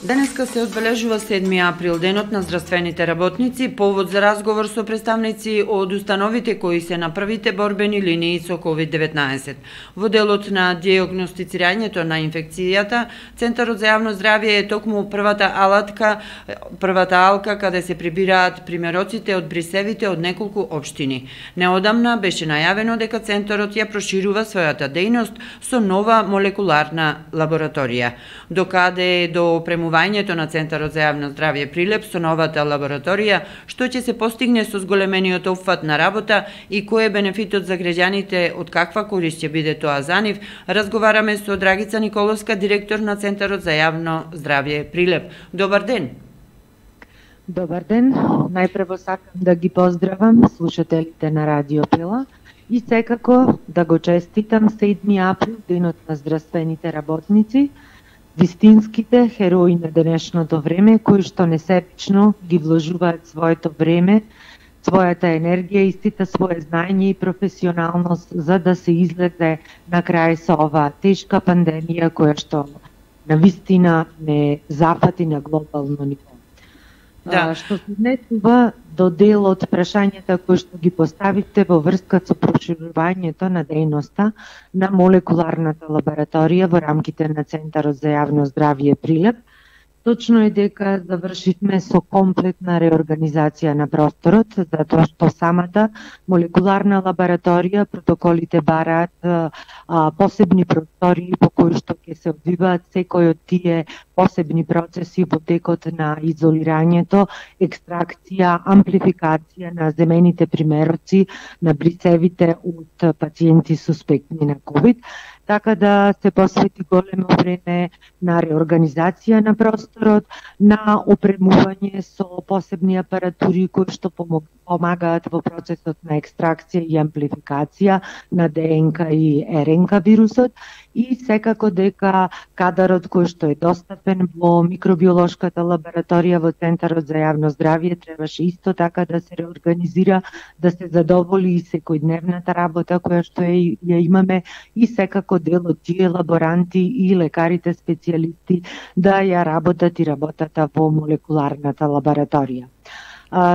Денеска се одбележува 7 април, денот на здравствените работници, повод за разговор со представници од установите кои се на првите борбени линии со COVID-19. Во делот на диагностицирањето на инфекцијата, Центарот за јавно здравје е токму првата алка каде се прибираат примероците од брисевите од неколку општини. Неодамна беше најавено дека Центарот ја проширува својата дејност со нова молекуларна лабораторија. Докаде до опремувањето на Центарот за јавно здравје Прилеп со новата лабораторија, што ќе се постигне со зголемениот опфат на работа и кој е бенефитот за граѓаните, од каква корист ќе биде тоа за нив, разговараме со Драгица Николовска, директор на Центарот за јавно здравје Прилеп. Добар ден! Добар ден! Најпрво сакам да ги поздравам слушателите на Радио Пила и секако да го честитам 7 април, денот на здравствените работници, вистинските херои на денешното време, кои што несебично ги вложуваат своето време, својата енергија и сите своје знаење и професионалност за да се излезе на крај со оваа тешка пандемија која што навистина не зафати на глобално ниво. Да. Што се однесува до дел од прашањата кои што ги поставите во врска со проширувањето на дејноста на молекуларната лабораторија во рамките на Центарот за јавно здравје Прилеп, точно е дека завршивме со комплетна реорганизација на просторот, затоа што самата молекуларна лабораторија, протоколите бараат посебни простори по кои што ќе се одвиваат секој од тие посебни процеси во текот на изолирањето, екстракција, амплификација на земените примероци на брисевите од пациенти суспектни на COVID, така да се посвети големо време на реорганизација на просторот, на опремување со посебни апаратури кои што помагаат во процесот на екстракција и амплификација на ДНК и РНК вирусот и секако дека кадарот кој што е достапен во микробиолошката лабораторија во Центарот за јавно здравје требаше исто така да се реорганизира, да се задоволи и секојдневната работа која што ја имаме и секако дел од тие лаборанти и лекарите специјалисти да ја работат и работата во молекуларната лабораторија.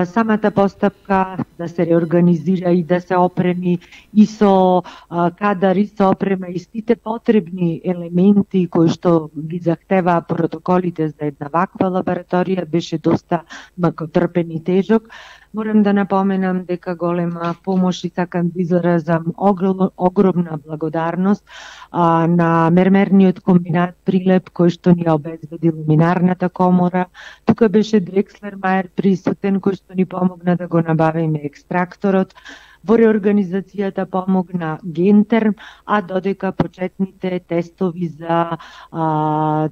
Самата постапка да се реорганизира и да се опреми и со кадар и со опрема и сите потребни елементи кои што ги захтеваа протоколите за една ваква лабораторија беше доста макотрпен и тежок. Морам да напоменам дека голема помош и сакам да изразам огромна благодарност на мермерниот комбинат Прилеп кој што ни обезбеди ламинарната комора. Тука беше Дрекслер Мајер присутен кој што ни помогна да го набавиме екстракторот. Во реорганизацијата помогна Гентерм, а додека почетните тестови за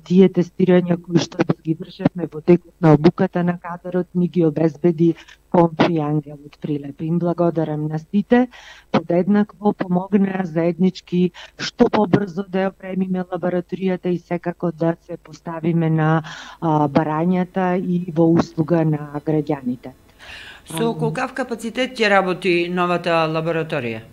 тие тестирања кои што ги вршевме во текот на обуката на кадарот ни ги обезбеди Комфи Ангел од Прилеп. Им благодарам на сите, подеднакво помогнаа заеднички што побрзо да ја опремиме лабораторијата и секако да се поставиме на барањата и во услуга на граѓаните. Со колкав капацитет ќе работи новата лабораторија?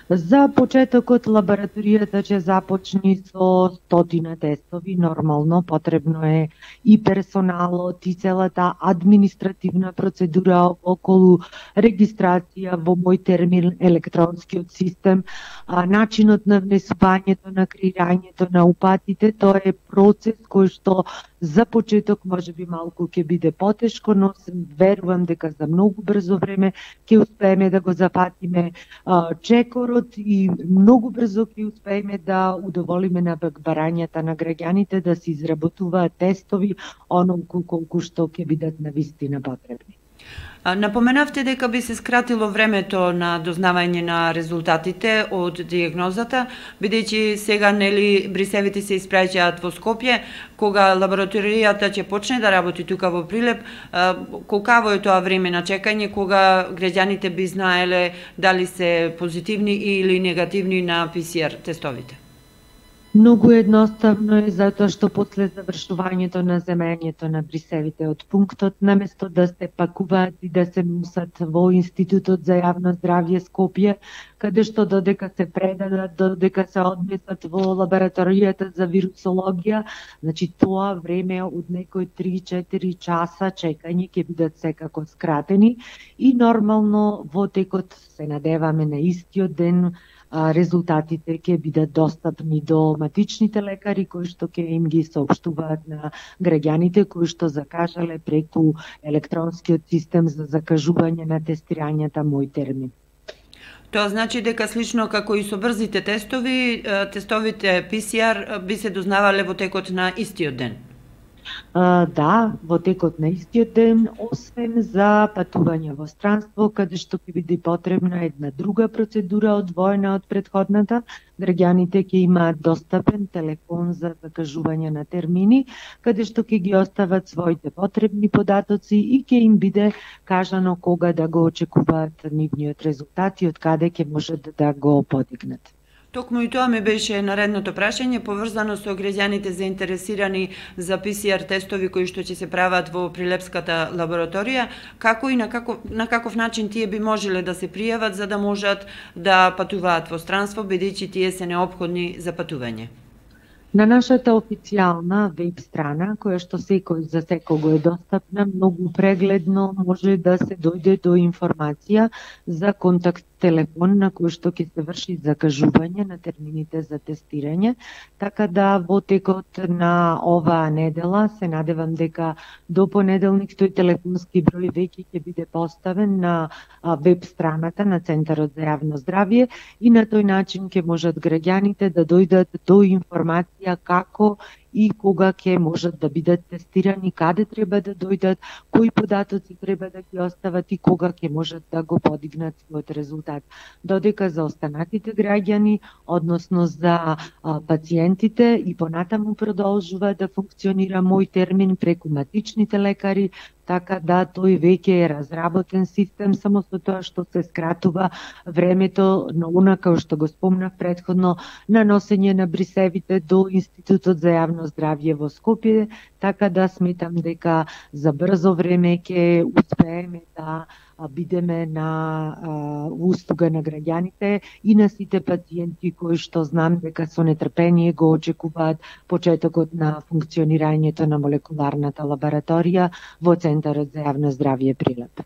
За почетокот лабораторијата ќе започне со 100 тестови, нормално потребно е и персоналот и целата административна процедура околу регистрација во мој термин електронскиот систем, начинот на внесувањето, на креирањето на упатите, тоа е процес кој што за почеток може би малку ќе биде потешко, но верувам дека за многу брзо време ќе успееме да го зафатиме чекорот и многу брзо ќе успееме да удоволиме на барањата на граѓаните да се изработуваат тестови онолку колку што ќе бидат навистина потребни. Напоменавте дека би се скратило времето на дознавање на резултатите од дијагнозата, бидејќи сега нели брисевите се испраќаат во Скопје, кога лабораторијата ќе почне да работи тука во Прилеп, колкаво е тоа време на чекање, кога граѓаните би знаеле дали се позитивни или негативни на ПСР тестовите? Многу едноставно е затоа што после завршувањето на земењето на брисевите од пунктот, наместо да се пакуваат и да се носат во Институтот за јавно здравје Скопје, каде што додека се предадат, додека се однесат во лабораторијата за вирусологија, значи тоа време од некои 3-4 часа чекање ќе бидат секако скратени и нормално во текот се надеваме на истиот ден резултатите ќе бидат достапни до матичните лекари кои што ќе им ги соопштуваат на граѓаните кои што закажале преку електронскиот систем за закажување на тестирањата Мој термин. Тоа значи дека слично како и со брзите тестови, тестовите PCR би се дознавале во текот на истиот ден? Да, во текот на истиот ден, освен за патување во странство, каде што ќе биде потребна една друга процедура одвоена од претходната, граѓаните ќе имаат достапен телефон за закажување на термини, каде што ќе ги остават своите потребни податоци и ќе им биде кажано кога да го очекуваат нивниот резултат и од каде ќе можат да го подигнат. Токму и тоа ми беше наредното прашање, поврзано со граѓаните заинтересирани за PCR тестови кои што ќе се прават во Прилепската лабораторија, како и на каков начин тие би можеле да се пријават за да можат да патуваат во странство, бидејќи тие се неопходни за патување? На нашата официјална веб страна, која што за секого е достапна, многу прегледно може да се дојде до информација за контакт телефон на кој што ќе се врши закажување на термините за тестирање, така да во текот на оваа недела се надевам дека до понеделник тој телефонски број веќе ќе биде поставен на веб страната на Центарот за јавно здравје и на тој начин ќе можат граѓаните да дојдат до информација како и кога ќе можат да бидат тестирани, каде треба да дојдат, кои податоци треба да ги остават и кога ќе можат да го подигнат својот резултат. Додека за останатите граѓани, односно за пациентите и понатаму продолжува да функционира Мој термин преку матичните лекари, така да тој веќе е разработен систем, само со тоа што се скратува времето на онака што го спомнав предходно на носење на брисевите до Институтот за јавно здравје во Скопје, така да сметам дека за брзо време ќе успееме да бидеме на услуга на граѓаните и на сите пациенти кои што знам дека со нетрпение го очекуваат почетокот на функционирањето на молекуларната лабораторија во Центарот за јавно здравје Прилеп.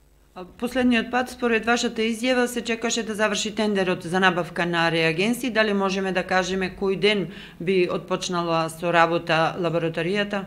Последниот пат, според вашата изјава, се чекаше да заврши тендерот за набавка на реагенси. Дали можеме да кажеме кој ден би отпочнала со работа лабораторијата?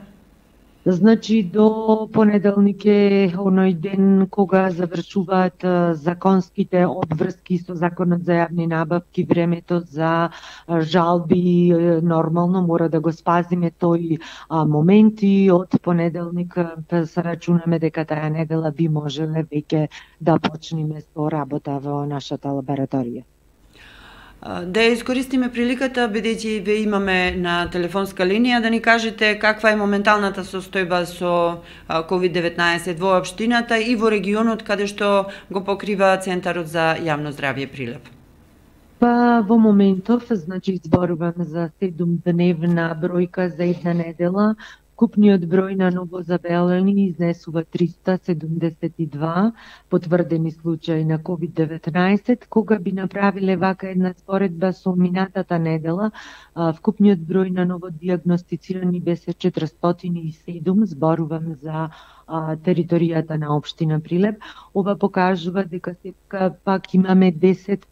Значи, до понеделник е оној ден кога завршуваат законските обврски со Законот за јавни набавки, времето за жалби нормално мора да го спазиме тој момент и од понеделник се рачунаме дека таа недела би можеле веќе да почнеме со работа во нашата лабораторија. Да ја искористиме приликата, бидејќи ве имаме на телефонска линија, да ни кажете каква е моменталната состојба со COVID-19 во општината и во регионот каде што го покрива Центарот за јавно здравје Прилеп. Па во моментов, значи зборувам за 7-дневна бројка за една недела. Вкупниот број на новозабелени изнесува 372 потврдени случаи на COVID-19. Кога би направиле вака една споредба со минатата недела, вкупниот број на новодиагностицирани беше 407, зборувам за територијата на општина Прилеп. Ова покажува дека сепак пак имаме 10%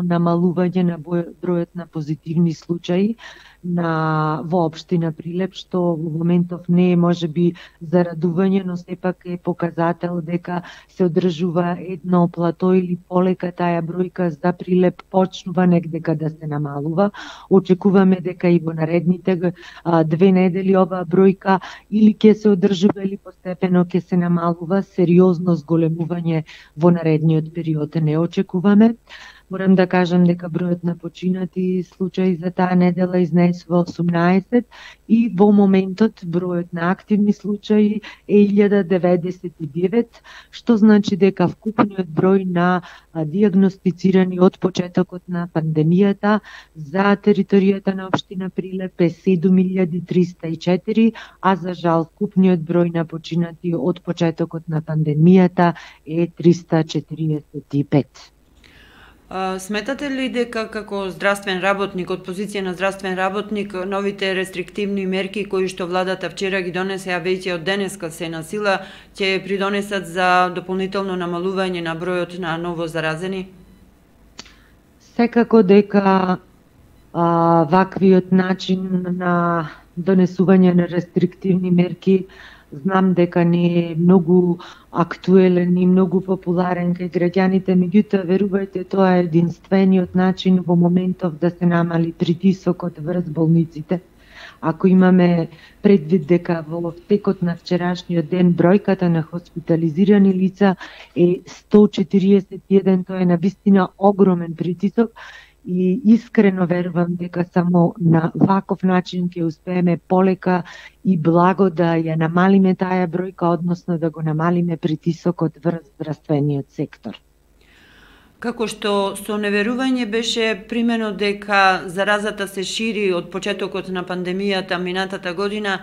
намалување на бројот на позитивни случаи во општина Прилеп, што во моментов не е можеби за радување, но сепак е показател дека се одржува едно плато или полека таа бројка за Прилеп почнува негдека да се намалува. Очекуваме дека и во наредните 2 недели оваа бројка или ќе се одржува или постепено ќе се намалува. Сериозно зголемување во наредниот период не очекуваме. Морам да кажам дека бројот на починати случаи за таа недела изнесува 18 и во моментот бројот на активни случаи е 1099, што значи дека вкупниот број на дијагностицирани од почетокот на пандемијата за територијата на општина Прилеп е 7304, а за жал вкупниот број на починати од почетокот на пандемијата е 345. Сметате ли дека како здравствен работник, од позиција на здравствен работник, новите рестриктивни мерки кои што владата вчера ги донесе, а веќе од денеска се на сила, ќе придонесат за дополнително намалување на бројот на ново заразени? Секако дека ваквиот начин на донесување на рестриктивни мерки знам дека не е многу актуелен и многу популарен кај граѓаните, меѓутоа верувајте, тоа е единствениот начин во моментов да се намали притисокот врз болниците. Ако имаме предвид дека во текот на вчерашниот ден бројката на хоспитализирани лица е 141, тоа е навистина огромен притисок, и искрено верувам дека само на ваков начин ќе успееме полека и благо да ја намалиме таа бројка, односно да го намалиме притисокот врз здравствениот сектор. Како што со неверување беше примено дека заразата се шири од почетокот на пандемијата минатата година,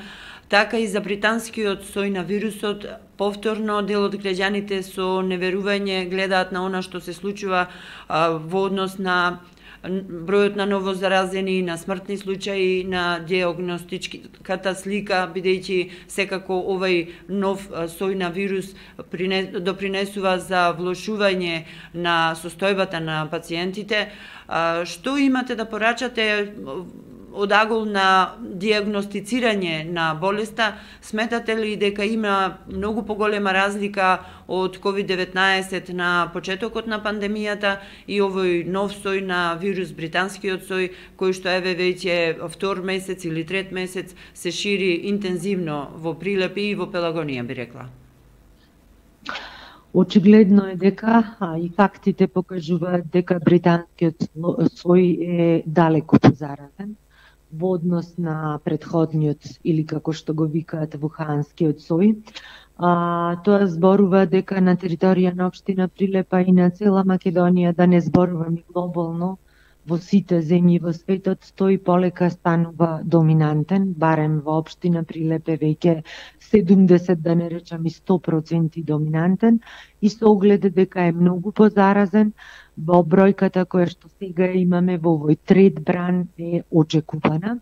така и за британскиот сој на вирусот, повторно дел од граѓаните со неверување гледаат на она што се случува во однос на бројот на новозаразени, на смртни случаи, на дијагностичката слика, бидејќи секако овај нов сој на вирус допринесува за влошување на состојбата на пациентите. Што имате да порачате од агол на дијагностицирање на болеста? Сметате ли дека има многу поголема разлика од COVID-19 на почетокот на пандемијата и овој нов сој на вирус, британскиот сој, кој што еве веќе втор месец или трет месец се шири интензивно во Прилеп и во Пелагонија, би рекла? Очигледно е дека, и фактите покажуваат дека британскиот сој е далеку позаразен во однос на претходниот, или како што го викаат вуханскиот сој. Тоа зборува дека на територија на општина Прилепа и на цела Македонија, да не зборувам и глобално, во сите земји во светот, тој полека станува доминантен, барем во општина Прилеп е веќе 70, да не речам и 100% доминантен, и со оглед дека е многу позаразен, во бројката која што сега имаме во овој трет бран е очекувана.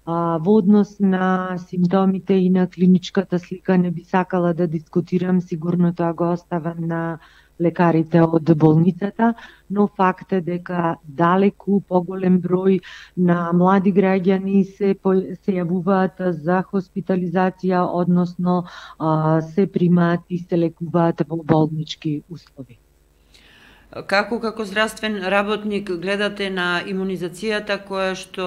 Во однос на симптомите и на клиничката слика не би сакала да дискутирам, сигурно тоа го оставам на лекарите од болницата, но факт е дека далеку поголем број на млади граѓани се јавуваат за хоспитализација, односно се примаат и се лекуваат во болнички услови. Како здравствен работник гледате на имунизацијата која што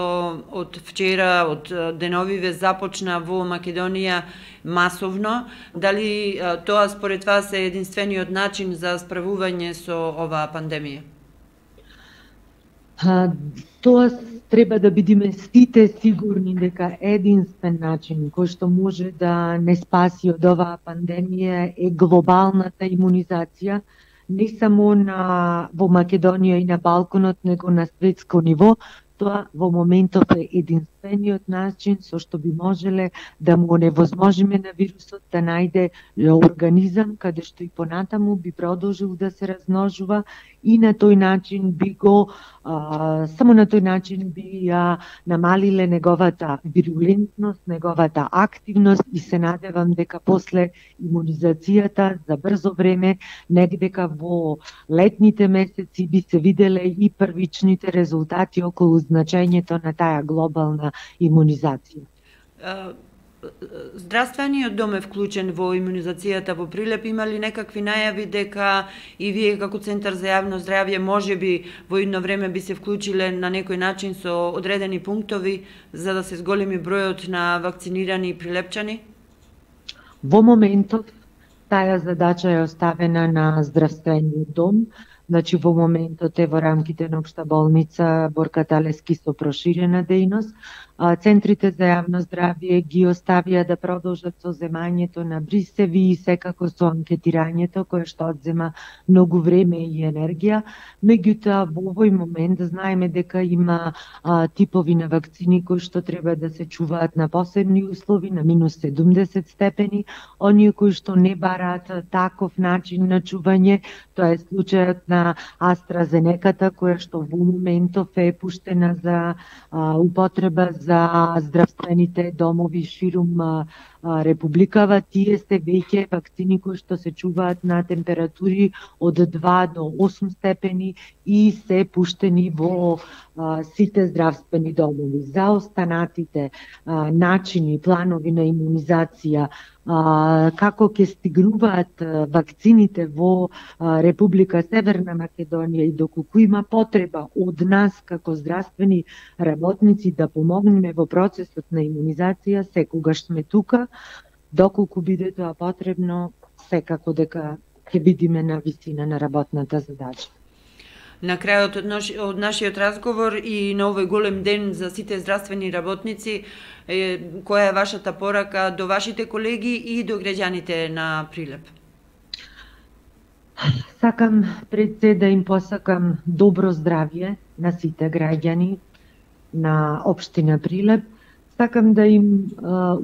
од вчера, од деновиве започна во Македонија масовно? Дали тоа според вас е единствениот начин за справување со оваа пандемија? Тоа треба да бидеме сите сигурни дека единствен начин кој што може да не спаси од оваа пандемија е глобалната имунизација, не само во Македонија и на Балканот, него на светско ниво. Тоа во моментов е единствениот начин со што би можеле да му оневозможиме на вирусот да најде организам каде што и понатаму би продолжил да се размножува и на тој начин би го само на тој начин би ја намалиле неговата вирулентност, неговата активност и се надевам дека после имунизацијата за брзо време, негдека во летните месеци би се виделе и првичните резултати околу значењето на таа глобална имунизација. Здравствениот дом е вклучен во имунизацијата во Прилеп. Има ли некакви најави дека и вие како Центар за јавно здравје можеби во едно време би се вклучиле на некој начин со одредени пунктови за да се зголеми бројот на вакцинирани прилепчани? Во моментот таа задача е оставена на здравствениот дом. Значи во моментот е во рамките на Општа болница Борка Талески со проширена дејност. Центрите за јавно здравје ги оставија да продолжат со земањето на брисеви и секако со анкетирањето кое што одзема многу време и енергија. Меѓутоа во овој момент знаеме дека има типови на вакцини кои што треба да се чуваат на посебни услови, на минус 70 степени. Оние кои што не бараат таков начин на чување, тоа е случајот на AstraZeneca, која што во моментов е пуштена за употреба за здравствените домови ширум Републикава. Тие се веќе вакцини кои што се чуваат на температури од 2 до 8 степени и се пуштени во сите здравствени домови. За останатите начини, планови на имунизација, како ќе стигнуваат вакцините во Република Северна Македонија и доколку има потреба од нас како здравствени работници да помогнеме во процесот на имунизација, секогаш сме тука. Доколку биде тоа потребно, секако дека ќе бидеме на висина на работната задача. На крајот од нашиот разговор и на овој голем ден за сите здравствени работници, која е вашата порака до вашите колеги и до граѓаните на Прилеп? Сакам пред се да им посакам добро здравје на сите граѓани на општина Прилеп. Сакам да им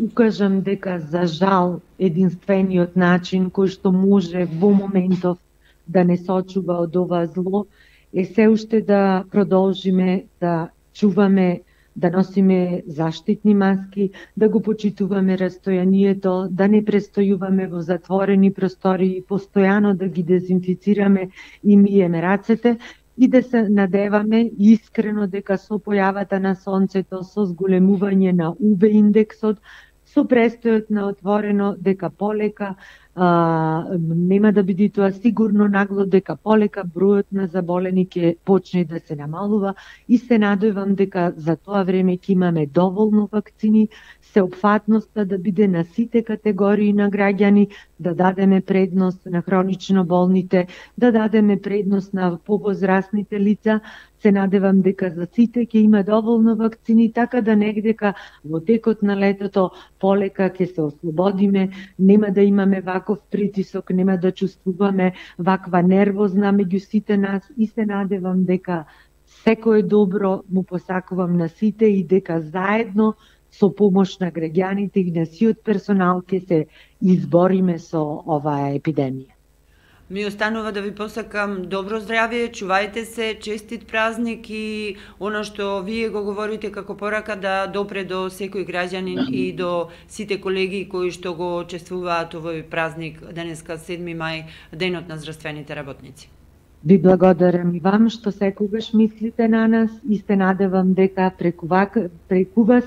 укажам дека за жал единствениот начин кој што може во моментов да не сочува од ова зло е се уште да продолжиме да чуваме, да носиме заштитни маски, да го почитуваме растојанието, да не престојуваме во затворени простори, постојано да ги дезинфицираме и миеме рацете и да се надеваме искрено дека со појавата на сонцето, со зголемување на УВ индексот, со престојот на отворено, дека полека нема да биде тоа сигурно нагло, дека полека бројот на заболени ќе почне да се намалува и се надевам дека за тоа време ќе имаме доволно вакцини, сеопфатноста да биде на сите категории на граѓани, да дадеме предност на хронично болните, да дадеме предност на повозрастните лица. Се надевам дека за сите ќе има доволно вакцини, така да негдека во текот на летото полека ќе се ослободиме, нема да имаме ваков притисок, нема да чувствуваме ваква нервозна меѓу сите нас и се надевам дека секое добро му посакувам на сите и дека заедно со помош на граѓаните и на сиот персонал ќе се избориме со оваа епидемија. Ми останува да ви посакам добро здравје, чувајте се, честит празник и оно што вие го говорите како порака да допре до секој граѓанин и до сите колеги кои што го чествуваат овој празник денеска 7 мај, денот на здравствените работници. Ви благодарам и вам што секогаш мислите на нас и се надевам дека преку вас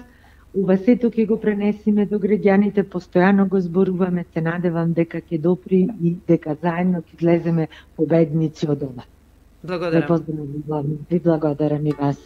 ова сето ќе го пренесиме до граѓаните, постојано го зборуваме, се надевам дека ќе допри и дека заедно ќе излеземе победници од ова. Благодарам. Ви благодарам и вас.